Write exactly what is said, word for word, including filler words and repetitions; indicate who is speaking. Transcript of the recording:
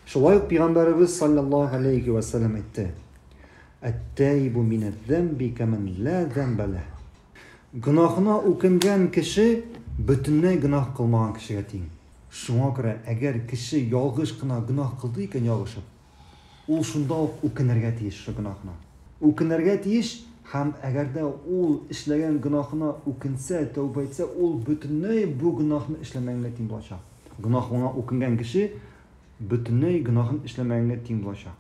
Speaker 1: Шулай ук Пәйгамбәребез саллаллаһу алейхи ва сәлләм әйтте: "Әт-таибу минәз-зәмби кәмән ла зәмбә ләһ". Гөнаһына үкенгән кеше бөтенләй гөнаһ кылмаган кешегә тиң. Шуңа күрә, әгәр кеше ялгыш кына гөнаһ кылды икән ялгышып, ул шунда ук үкенергә тиеш шул гөнаһына. Үкенергә тиеш һәм әгәр дә ул эшләгән гөнаһына үкенсә, тәүбә итсә, ул бөтенләй бу гөнаһны эшләмәгәнгә тиң булачак. Гөнаһына үкенгән кеше бөтенләй гөнаһын эшләмәгәнгә тиң булачак.